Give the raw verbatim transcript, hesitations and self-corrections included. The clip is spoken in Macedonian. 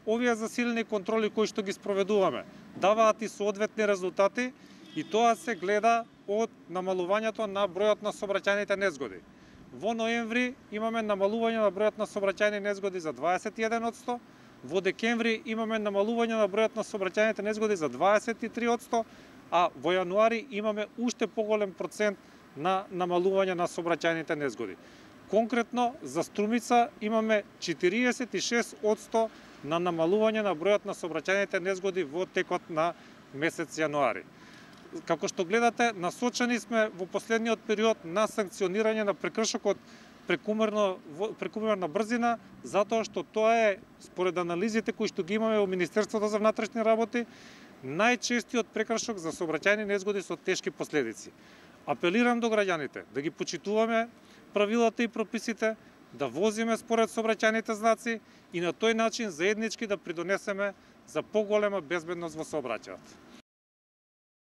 овие засилени контроли кои што ги спроведуваме даваат и соодветни резултати и тоа се гледа од намалувањето на бројот на сообраќајните незгоди. Во ноември имаме намалување на бројот на сообраќајни незгоди за дваесет и еден одсто, во декември имаме намалување на бројот на сообраќајните незгоди за дваесет и три одсто, а во јануари имаме уште поголем процент на намалување на сообраќајните незгоди. Конкретно за Струмица имаме четириесет и шест одсто на намалување на бројот на сообраќајните незгоди во текот на месец јануари. Како што гледате, насочени сме во последниот период на санкционирање на прекршокот прекумерно прекумерна брзина, затоа што тоа е според анализите кои што ги имаме во Министерството за внатрешни работи најчестиот прекршок за сообраќајни незгоди со тешки последици. Апелирам до граѓаните да ги почитуваме правилата и прописите, да возиме според сообраќајните знаци и на тој начин заеднички да придонесеме за поголема безбедност во сообраќајот.